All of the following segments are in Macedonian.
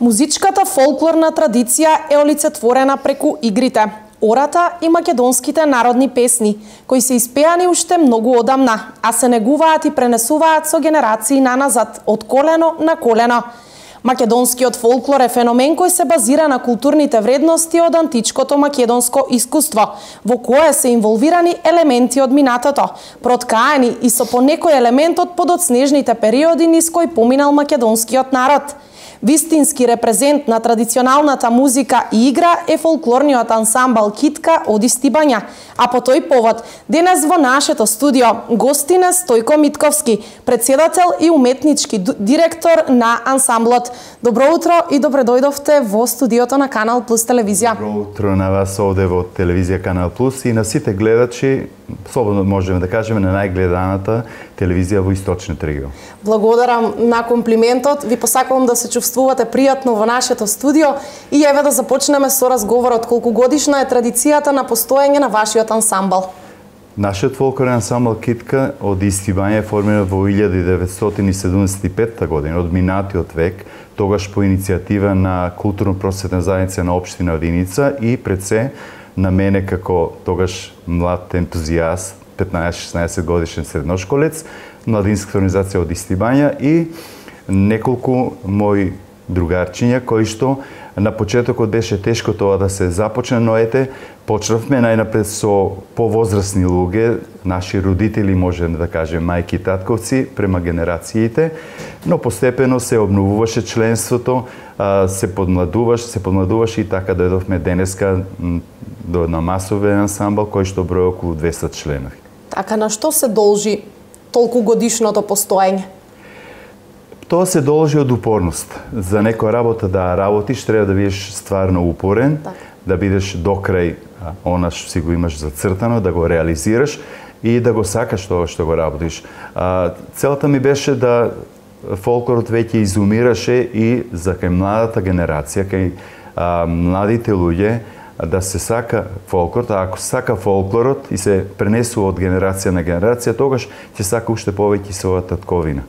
Музичката фолклорна традиција е олицетворена преку игрите, ората и македонските народни песни, кои се испеани уште многу одамна, а се негуваат и пренесуваат со генерации наназад, од колено на колено. Македонскиот фолклор е феномен кој се базира на културните вредности од античкото македонско искуство, во кое се инволвирани елементи од минатото, проткаени и со по некој елемент од подоцнежните периоди низ кој поминал македонскиот народ. Вистински репрезент на традиционалната музика и игра е фолклорниот ансамбл Китка од Истибања, а по тој повод денес во нашето студио гостина Стојко Митковски, председател и уметнички директор на ансамблот. Добро утро и добре дојдовте во студиото на Канал Плюс телевизија. Добро утро на вас овде во телевизија Канал Плюс и на сите гледачи, слободно можеме да кажеме на најгледаната телевизија во Источниот регион. Благодарам на комплиментот. Ви посакувам да се чувствувате пријатно во нашето студио и еве да започнеме со разговорот. Колку годишна е традицијата на постоење на вашиот ансамбл? Нашиот фолклорен ансамбл Китка од Истибања е формиран во 1975 година, од минатиот век, тогаш по иницијатива на културно-просветна заедница на општина Виница и пред се на мене како тогаш млад ентузијаст, 15-16 годишен средношколец, младинска организација од Истибања и неколку мои другарчиња кои што на почетокот беше тешко тоа да се започне, но ете, почнавме најнапред со повозрасни луѓе, наши родители, можеме да кажем, мајки и татковци, према генерациите, но постепено се обновуваше членството, се подмладуваше и така дојдовме денеска до на масовен ансамбл кој што брои околу 200 членови. Така, на што се должи толку годишното постоење? Тоа се должи од упорност. За некоја работа да работиш, треба да бидеш стварно упорен, да бидеш докрај она што си го имаш зацртано, да го реализираш и да го сакаш тоа што го работиш. Целта ми беше да фолклорот веќе изумираше и за кај младата генерација, кај младите луѓе, да се сака фолклорот, а ако сака фолклорот и се пренесува од генерација на генерација, тогаш ќе сака уште повеќе својата татковина.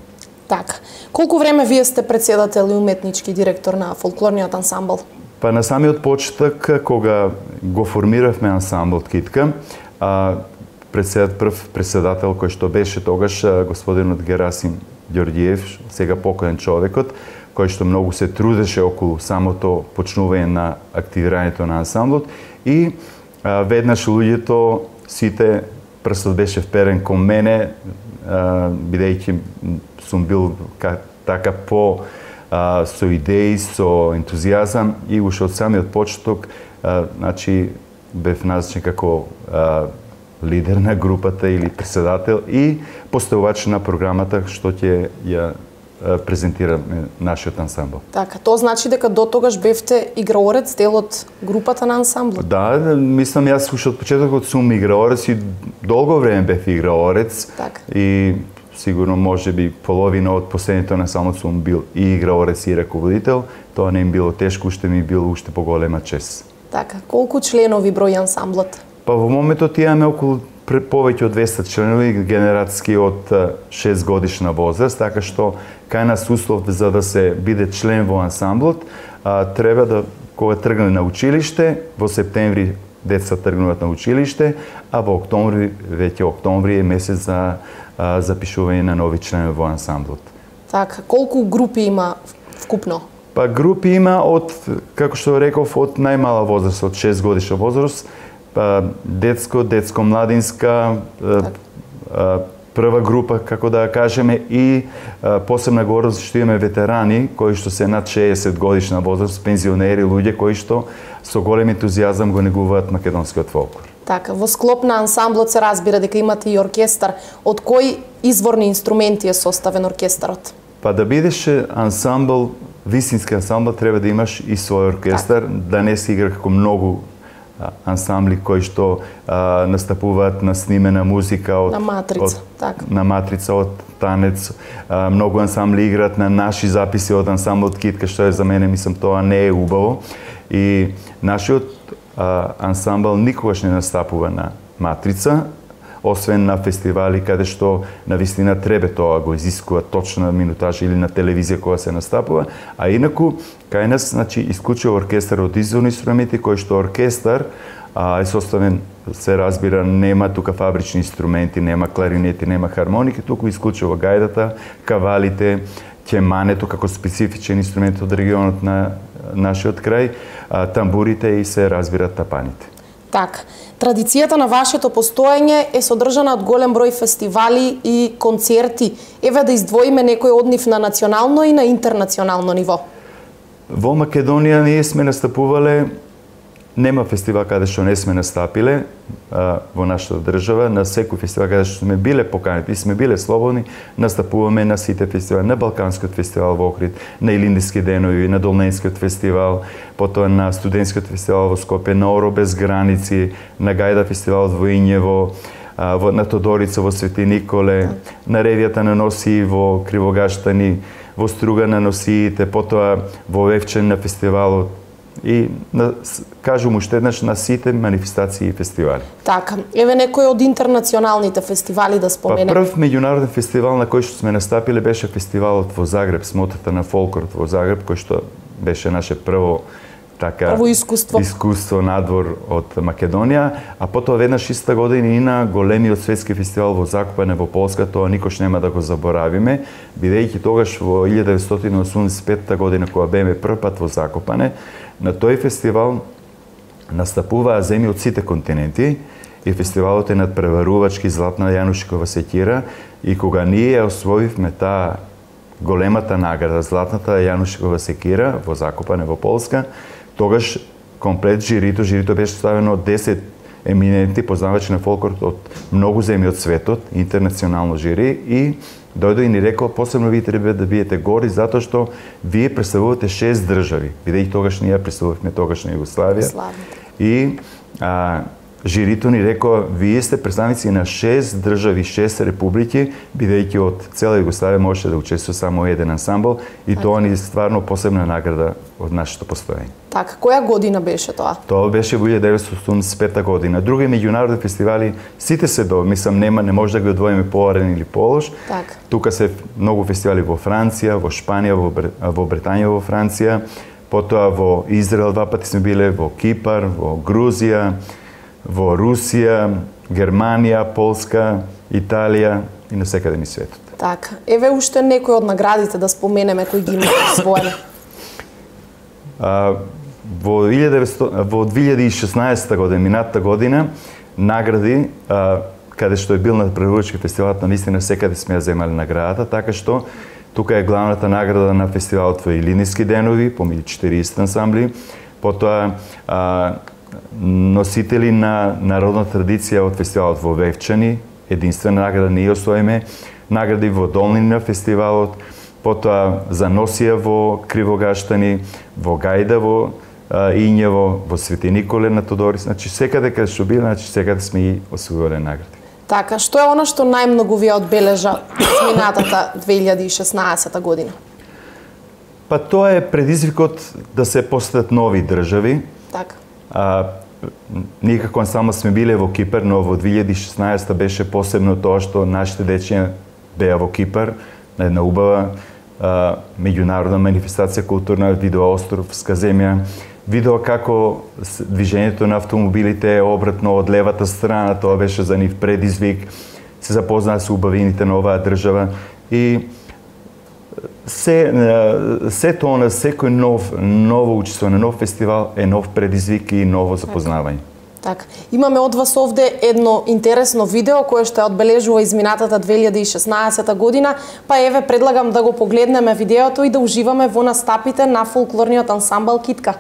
Така. Колку време вие сте председател и уметнички директор на фолклорниот ансамбл? Па на самиот почеток, кога го формиравме ансамблот Китка, прв председател кој што беше тогаш господинот Герасим Ѓорѓиев, сега покоен човекот, кој што многу се трудеше околу самото почнување на активирањето на ансамблот и веднаш луѓето, сите, прстот беше вперен кон мене, бидејќи сум бил така со идеи, со ентузијазам и уште од самиот почеток, значи бев назначен како лидер на групата или председател и поставувач на програмата што ќе ја презентираме нашиот ансамбл. Така, тоа значи дека до тогаш бевте играорец, дел од групата на ансамблот? Да, мислам јас уште од почетокот сум играорец и долго време бев играорец. Така. И сигурно можеби половина од последните на само сум бил и играорец и раководител. Тоа не им било тешко, уште ми било уште поголема чест. Така, колку членови брои ансамблот? Па во моментот имаме околу повеќе од 200 членови, генератски од 6 годишна возраст, така што кај нас услов за да се биде член во ансамблот, треба да, кога тргне на училиште, во септември деца тргнуваат на училиште, а во октомври, веќе октомври е месец за запишување на нови членови во ансамблот. Така, колку групи има вкупно? Па групи има од, како што реков, од најмала возраст, од 6 годишна возраст, детско-младинска, прва група, како да кажеме, и посебна гордост што имаме ветерани, кои што се над 60 годишна возраст, пензионери, луѓе кои што со голем ентузијазам го негуваат македонскиот фолклор. Така, во склоп на ансамблот се разбира дека имате и оркестар. Од кои изворни инструменти е составен оркестарот? Па да бидеш ансамбл, вистински ансамбл, треба да имаш и свој оркестар, да не се игра како многу ансамбли кои што настапуваат на снимена музика од на матрица од танец. Многу ансамбли играат на наши записи од ансамблот Китка, што е за мене, мислам, тоа не е убаво. И нашиот ансамбл никогаш не настапува на матрица, освен на фестивали каде што навистина треба тоа го изискува точна минутажа или на телевизија кога се настапува, а инаку кај нас значи исклучиво оркестар од изворни инструменти кој што оркестар е составен, се разбира, нема тука фабрични инструменти, нема кларинети, нема хармоники, туку исклучиво гајдата, кавалите, ќемането како специфичен инструмент од регионот на нашиот крај, тамбурите и се разбира тапаните. Так, традицијата на вашето постоење е содржана од голем број фестивали и концерти. Еве да издвоиме некој од нив на национално и на интернационално ниво. Во Македонија ние сме настапувале, нема фестивал каде што не сме настапиле во нашата држава, на секој фестивал каде што сме биле поканети и сме биле слободни, настапуваме на сите фестивали, на Балканскиот фестивал во Охрид, на Илиндиски денови, на Долненскиот фестивал, потоа на Студентскиот фестивал во Скопје, на Оро без граници, на Гајда фестивал во Ињево, на Тодорица во Свети Николе, на Ревијата на Носи во Кривогаштани, во Струга на Носиите, потоа во Вевчан на фестивалот, и кажувам уште еднаш на сите манифестации и фестивали. Така, еве некој од интернационалните фестивали да споменеме. Прв меѓународен фестивал на кој што сме настапиле беше фестивалот во Загреб, смотрата на фолклорот во Загреб, кој што беше наше прво искуство надвор од Македонија, а потоа веднаш иста година и на големиот светски фестивал во Закопане во Полска, тоа никош нема да го заборавиме, бидејќи тогаш во 1985 година кога беме првпат во Закопане, на тој фестивал настапуваа земји од сите континенти и фестивалот е надпреварувачки Златна Јанушкова секира и кога ние освоивме таа големата награда Златната Јанушкова секира во Закопане во Полска, тогаш комплет жирито беше ставено од 10 еминентни познавачи на фолклорот од многу земји од светот, интернационално жири, и дојде и ни рекол, посебно ви треба да биете гори, затоа што вие представувате 6 држави, бидејќи тогаш ние представувавме тогашна Југославија. И жирито ни рекол, вие сте представници на 6 држави, 6 републики, бидејќи од цела Југославија можеше да учествува само еден ансамбл, и тоа ни стварно посебна награда од нашето постоење. Така, која година беше тоа? Тоа беше во 1985 година. Други меѓународни фестивали сите се мислам не може да ги одвоиме поарен или полош. Так. Тука се многу фестивали во Франција, во Шпанија, во Британија, во Франција, потоа во Израел 2 пати сме биле, во Кипар, во Грузија, во Русија, Германија, Полска, Италија и на секаде низ светот. Така, еве уште некои од наградите да споменеме кои ги имате освоени. Во 2016 година, минатата година, награди, каде што е бил на преводачки фестивалот, на вистина секаде сме ја земали наградата, така што тука е главната награда на фестивалот во Илиндиски денови, помеѓу 40 ансамбли, потоа носители на народна традиција од фестивалот во Вевчани, единствена награда ние освоиме, награди во Долнина фестивалот, потоа за Носија во Кривогаштани, во Гајда во Ињево, во Свети Николе на Тодорис, значи секаде каде што биле, значи секаде сме и освоиле награди. Така, што е она што најмногу ви одбележа минатата 2016 година? Па тоа е предизвикот да се постат нови држави. Така. Ние како ансамбл сме биле во Кипар, но во 2016 беше посебно тоа што нашите дечиња беа во Кипар, на една убава меѓународна манифестација културна, видоа островска земја, видоа како движењето на автомобилите е обратно од левата страна, тоа беше за нив предизвик, се запознаа со убавините на оваа држава и се тоа на секој ново учествување, нов фестивал е нов предизвик и ново запознавање. Така, имаме од вас овде едно интересно видео кое што одбележува изминатата 2016 година, па еве предлагам да го погледнеме видеото и да уживаме во настапите на фолклорниот ансамбл Китка.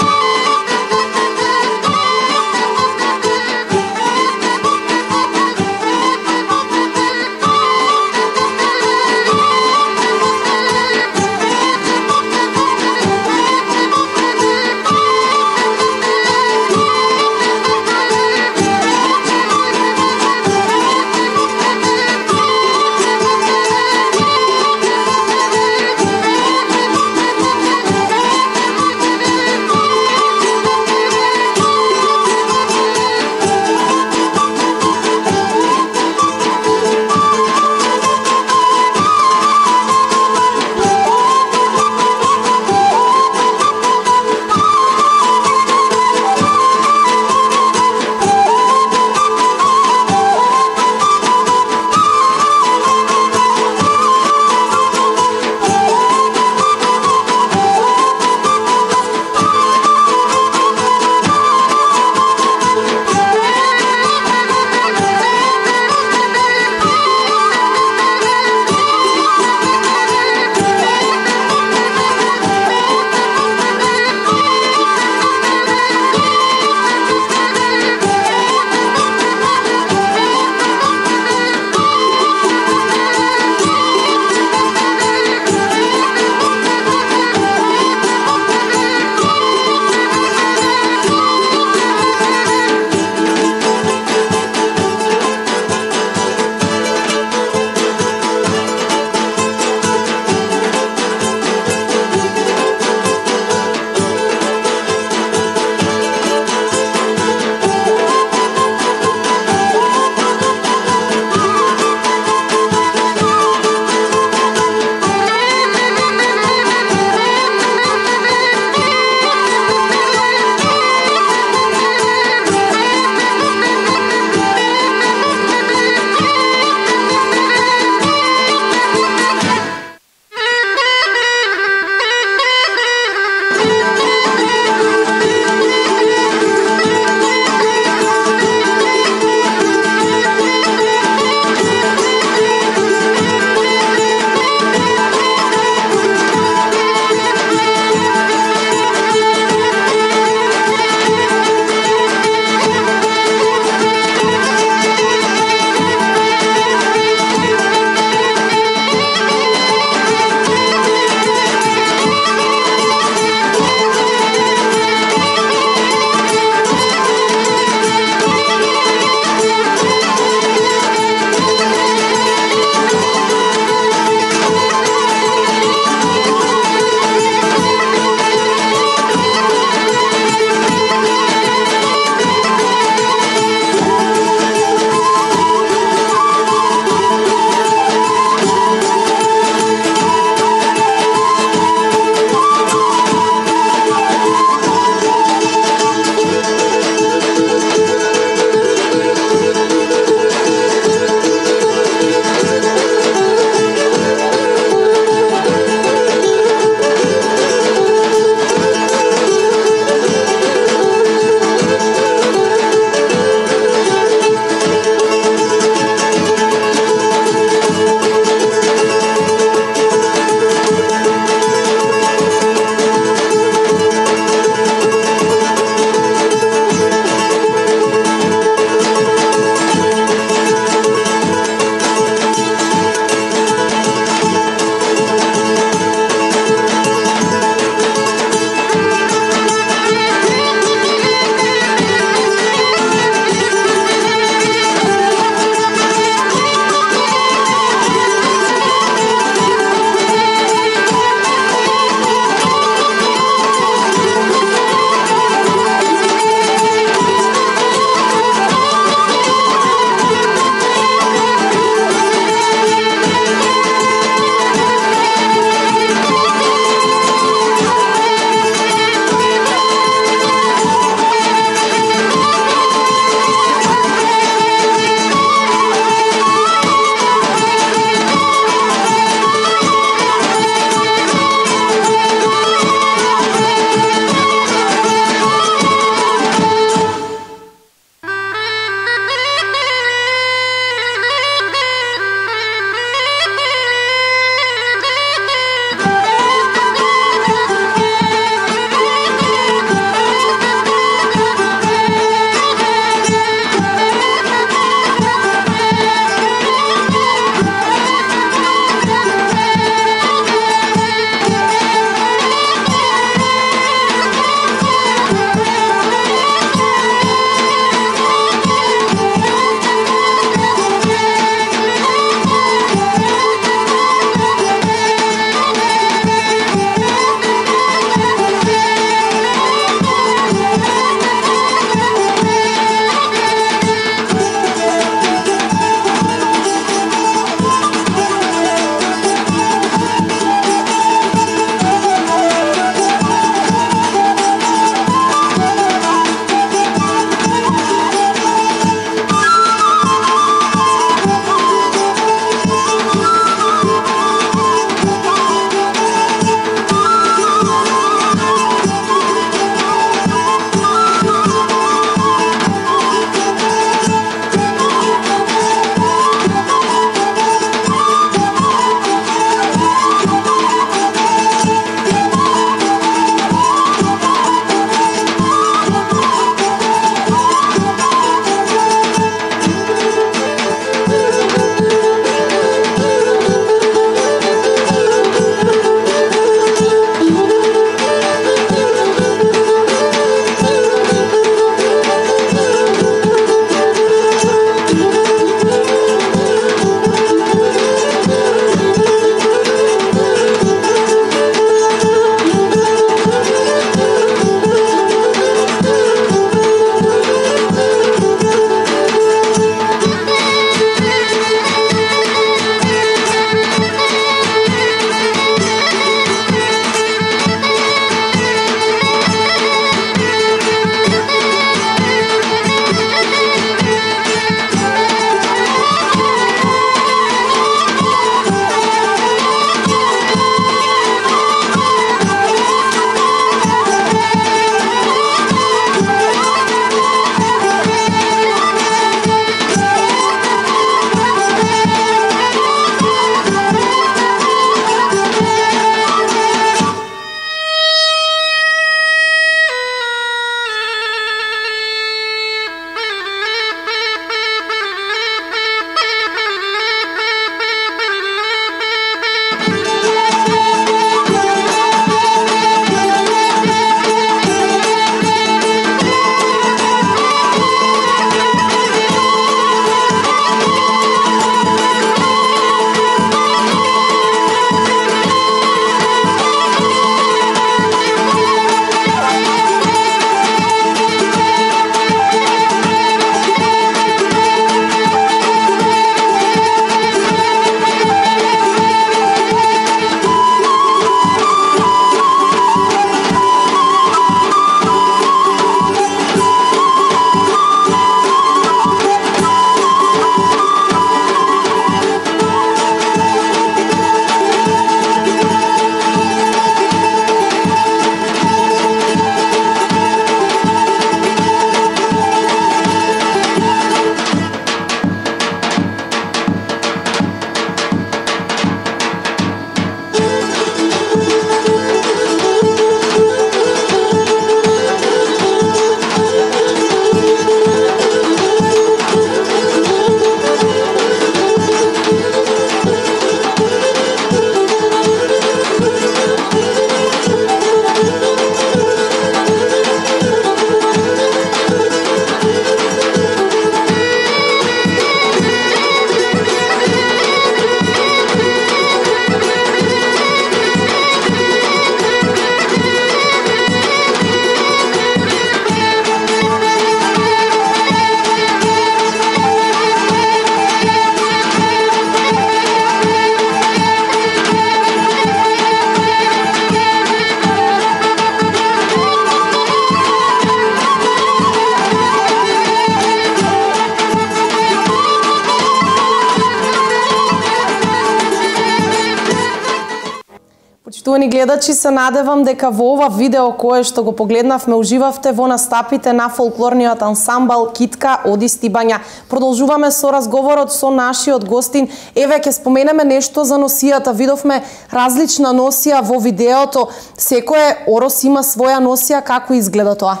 Почитувани гледачи, се надевам дека во ова видео кое што го погледнавме уживавте во настапите на фолклорниот ансамбл Китка оди Стибања. Продолжуваме со разговорот со нашиот гостин. Еве ќе споменеме нешто за носијата. Видовме различна носија во видеото. Секој орос има своја носија, како изгледа тоа?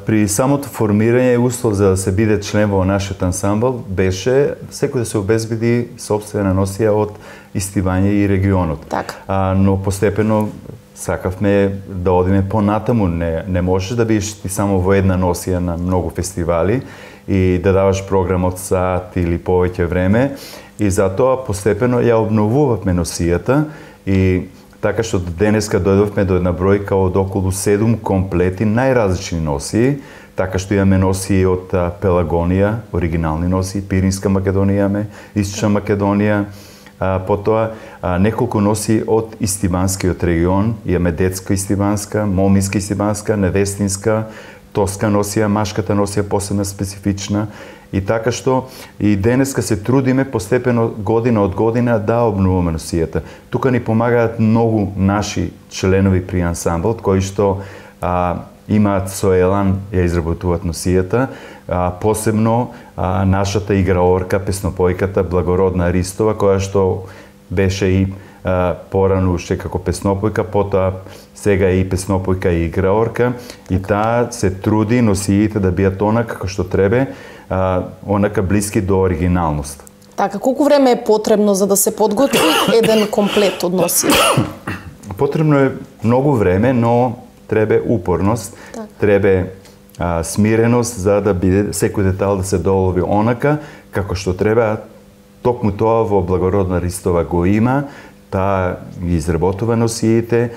При самото формирање услов за да се биде член во нашиот ансамбл беше секој да се обезбеди сопствена носија од Стибања и регионот. Но постепено сакавме да одиме понатаму. Не можеш да бидеш ти само во една носија на многу фестивали и да даваш програм од сат или повеќе време. И затоа постепено ја обновувавме носијата и така што денеска дојдовме до една бројка од околу 7 комплети најразлични носии, така што имаме носии од Пелагонија, оригинални носии, Пиринска Македонија имаме, Источна Македонија, потоа неколку носии од Истибанскиот регион, имаме детска Истибанска, моминска Истибанска, невестинска, тоска носија, машката носија посебна специфична. И така што и денеска се трудиме постепено година од година да обновуваме носијата. Тука ни помагаат многу наши членови при ансамблот кои што имаат со елан ја изработуваат носијата, посебно нашата играорка, песнопојката Благородна Ристова, која што беше и порано уште како песнопојка, потоа сега и песнопојка и играорка, и таа се труди носиите да биат онака како што требе, онака блиски до оригиналност. Така, колку време е потребно за да се подготви еден комплет од носија? Потребно е многу време, но требе упорност, требе смиреност за да биде секој детал да се долови онака како што треба. Токму тоа во Благородна Ристова го има, таа ги изработува носиите,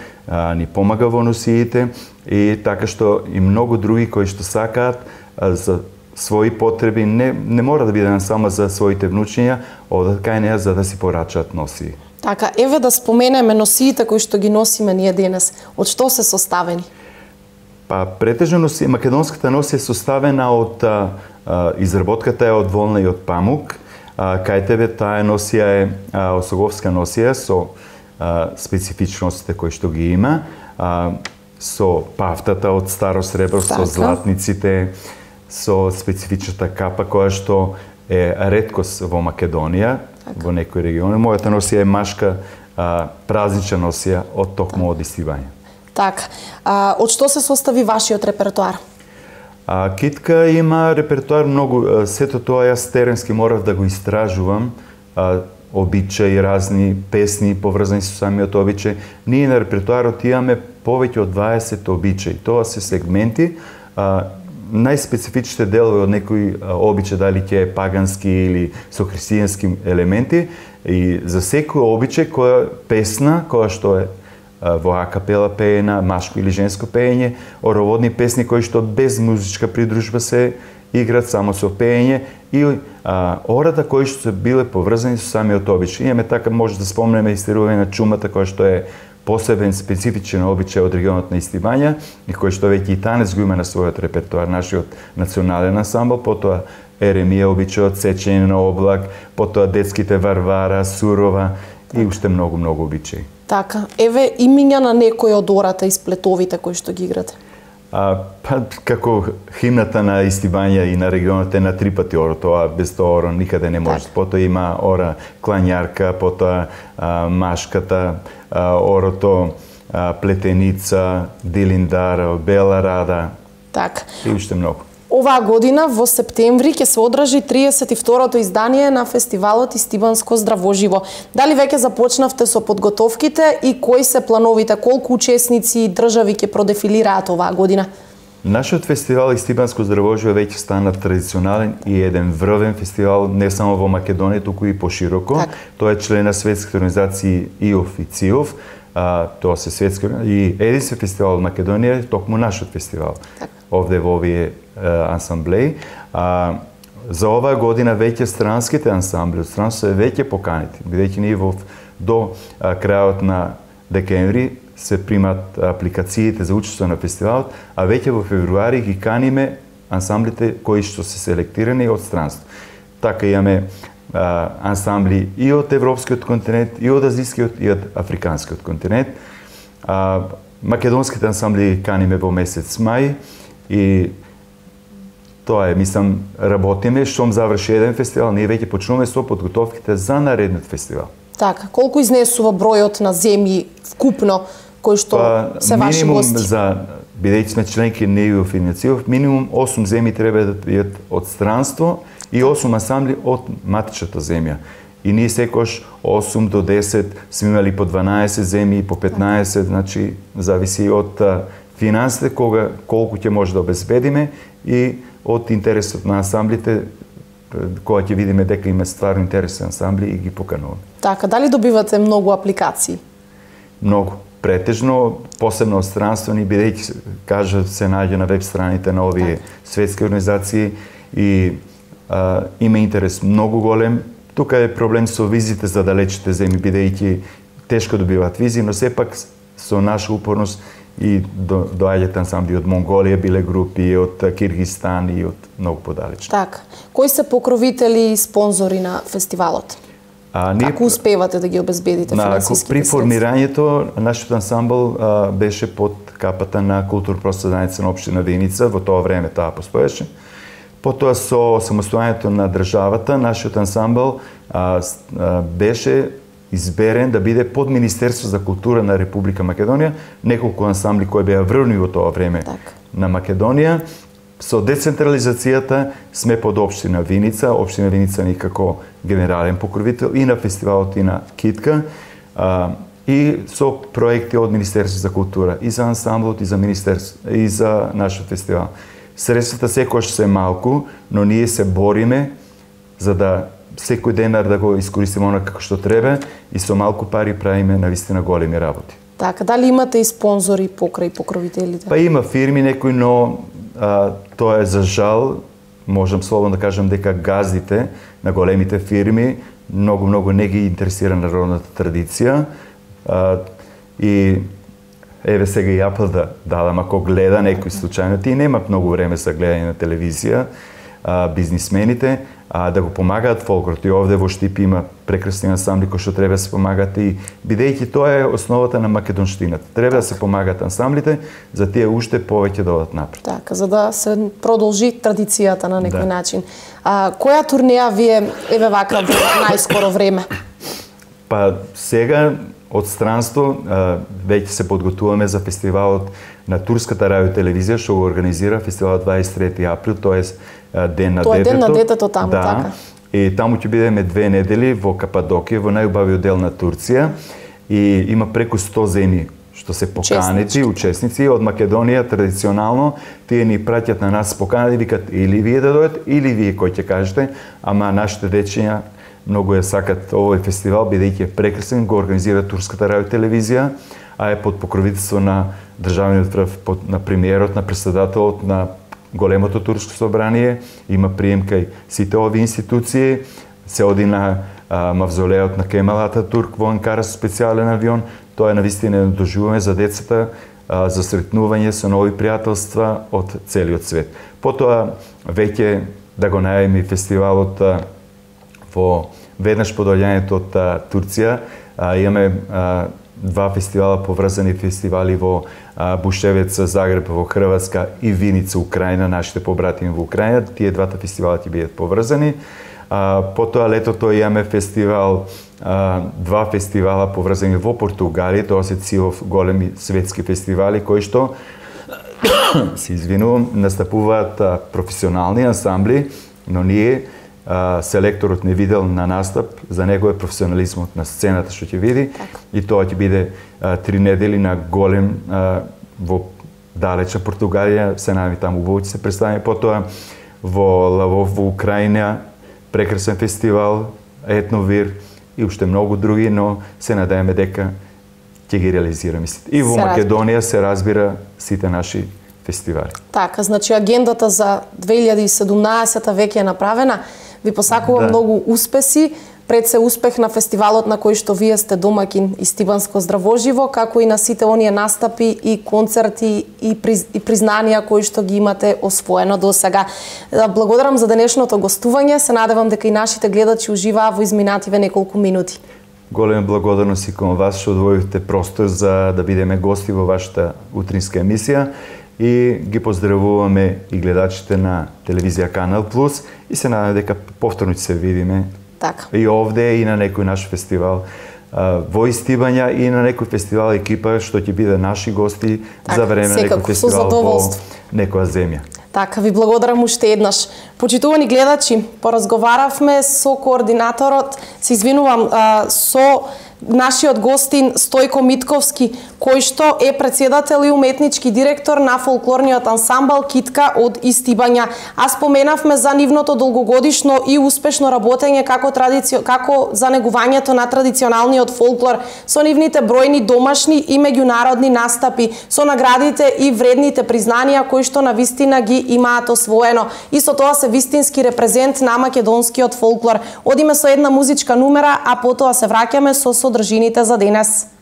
ни помага во носиите и така што и многу други кои што сакаат за своји потреби, не мора да биде само за своите внучиња, одат кај неа за да си порачаат носии. Така, еве да споменеме носиите кои што ги носиме ние денес. Од што се составени? Претежно македонската носија е составена од изработката е од волна и од памук. Кај тебе таа носија е осоговска носија со специфичностите кои што ги има, со пафтата од старо сребро, со златниците, со специфичната капа која што е реткост во Македонија, во некои региони. Мојата носија е машка празнична носија од токму од Стибања. Така. Од што се состави вашиот репертоар? Китка има репертоар многу. Сето тоа јас теренски морав да го истражувам. Обичаи, разни песни поврзани со самиот обичај. Ние на репертоарот имаме повеќе од 20 обичаи. Тоа се сегменти. Најспецифичните делови од некои обичај, дали ќе е пагански или со христијански елементи, и за секој обичај која песна, која што е во акапела пеена, машко или женско пеење, ороводни песни кои што без музичка придружба се играат само со пеење и ората кои што се биле поврзани со самиот обичај. Имаме така, може да спомнеме истерување на чумата која што е посебен специфичен обичај од регионот на Стибања и кој што веќе и танец го има на својот репертоар, нашиот национален ансамбл, потоа Еремија обичајот, Сечење на облак, потоа детските Варвара, Сурова и уште многу обичаи. Така, еве имиња на некој од ората и сплетовите кои што ги играте. Како химната на Стибања и на регионот е на 3 пати оро, тоа без тоа оро никаде не може. Потоа има ора клањарка, потоа машката, орото плетеница, дилиндар, бела рада. Така. И уште многу. Оваа година во септември ќе се одржи 32-то издание на фестивалот Стибанско здравоживо. Дали веќе започнавте со подготовките и кои се плановите, колку учесници и држави ќе продефилираат оваа година? Нашиот фестивал Стибанско здравоживо веќе стана традиционален и еден врвен фестивал не само во Македонија, туку и пошироко. Тоа е член на светските организации ИОФ и ЦИОФ. Тоа се светски и единствен фестивал во Македонија е токму нашиот фестивал. Овде во овие ансамблеи. За оваа година веќе странските ансамбли од странство се веќе поканети, бидејќи ние до крајот на декември се примат апликациите за учество на фестивалот, а веќе во февруари ги каниме ансамблите кои што се селектирани од странство. Така имаме ансамбли и од европскиот континент, и од азискиот, и од африканскиот континент. Македонските ансамбли каниме во месец мај и тоа е, мислам, работиме, штом заврши еден фестивал, ние веќе почнуваме со подготовките за наредниот фестивал. Така, колку изнесува бројот на земји вкупно кои што се ваши гости? Бидејќи сме членки на EU Иницијатив, минимум 8 земји треба да бидат од странство и 8 ансамбли од матичната земја. И ние секош 8 до 10 сме имали по 12 земји, по 15, значи зависи од финансите колку ќе може да обезбедиме и од интересот на ансамблите, кога ќе видиме дека има стварно интересни ансамбли и ги покануваме. Така, дали добивате многу апликации? Многу. Претежно, посебно од странствени, бидејќи се наѓа на веб страните на овие светски организации и има интерес многу голем. Тука е проблем со визите за далечните земји, бидејќи тешко добиваат визи, но сепак со наша упорност и доаѓаат ансамбли од Монголија, биле групи од Киргизстан и од многу подалечни. Така. Кои се покровители и спонзори на фестивалот? Како успевате да ги обезбедите финансиските При формирањето, нашиот ансамбл беше под капата на културно-просветна заедница на општина Виница, во тоа време таа постоеше. Потоа со самостојањето на државата, нашиот ансамбл беше изберен да биде под Министерство за култура на Република Македонија, неколку ансамбли кои беа врвни во тоа време на Македонија. Со децентрализацијата сме под општина Виница, општина Виница ни како генерален покровител и на фестивалот и на Китка, и со проекти од Министерство за култура и за ансамблот и за Министерство и за нашиот фестивал. Средствата секојаш се малку, но ние се бориме за да секој денар да го искористиме онака како што треба и со малку пари правиме навистина големи работи. Така, дали имате и спонзори покрај покровителите? Па има фирми некои, но тоа е за жал, можам слободно да кажам дека газдите на големите фирми многу не ги интересира народната традиција и еве сега и Apple да дадам, ако гледа некој случајно, тие немат многу време за гледање на телевизија, бизнисмените, да го помагаат фолклорот. И овде во Штип има прекрасни ансамбли кои што треба да се помагаат и бидејќи тоа е основата на македонштината. Треба да се помагаат ансамблите за тие уште повеќе да одат напред. Така, за да се продолжи традицијата на некој начин. Која турнеја вие еве вака во најскоро време? Па сега од странство веќе се подготуваме за фестивалот на Турската радиотелевизија што го организира фестивалот 23 април, тоест Ден на детето. Тоа е Ден на детето таму, така. И таму ќе бидеме 2 недели во Кападокија, во најубавиот дел на Турција и има преку 100 земји што се поканети, учесници од Македонија традиционално, тие ни праќат на нас поканати, викат или вие да дојдете, или вие кој ќе кажете, ама нашите дечиња многу ја сакат овој фестивал, бидејќи е прекрасен, го организира Турската радиотелевизија, а е под покровителство на државниот врв, на премиерот, на претседателот на големото турско собрание, има прием кај сите овие институции, се оди на мавзолеот на Кемал Ататурк во Анкара со специјален авион. Тоа е навистина доживуваме за децата, за сретнување со нови пријателства од целиот свет. Потоа веќе да го најавиме фестивалот во веднаш по доаѓањето од Турција, имаме 2 фестивала, поврзани фестивали во Бушевец, Загреб во Хрватска и Виница, Украина, нашите побратими во Украина. Тие двата фестивала ќе бидат поврзани. Потоа летото имаме фестивал, 2 фестивала поврзани во Португалија, тоа се цилов големи светски фестивали кои што се извинувам, настапуваат професионални ансамбли, но ние селекторот не видел на настап, за него е професионализмот на сцената што ќе види и тоа ќе биде 3 недели на голем во далечна Португалија, се најми таму убаво ќе се представи, потоа во Лавов во Украина, прекрасен фестивал, Етновир и уште многу други, но се надееме дека ќе ги реализираме. И во Македонија се разбира сите наши фестивали. Така, значи агендата за 2017 веќе е направена. Ви посакувам многу успеси пред се успех на фестивалот на кој што вие сте домакин Истибанско здравоживо, како и на сите оние настапи и концерти и признанија кои што ги имате освоено до сега. Благодарам за денешното гостување, се надевам дека и нашите гледачи уживаа во изминативе неколку минути. Голема благодарност и кон вас што одвоивте простор за да бидеме гости во вашата утринска емисија и ги поздравуваме и гледачите на телевизија Канал Плюс и се надевам дека повторно ќе се видиме така и овде и на некој наш фестивал во Истибања и на некој фестивал екипа што ќе биде наши гости за време на некој фестивал во некоја земја. Така, ви благодарам уште еднаш. Почитувани гледачи, поразговаравме со координаторот, се извинувам, со нашиот гостин Стојко Митковски, кој што е председател и уметнички директор на фолклорниот ансамбл Китка од Истибања. А споменавме за нивното долгогодишно и успешно работење како за негувањето на традиционалниот фолклор, со нивните бројни домашни и меѓународни настапи, со наградите и вредните признанија кои што навистина ги имаат освоено. Исто тоа се вистински репрезент на македонскиот фолклор. Одиме со една музичка numera, а потоа се враќаме со содржините за денес.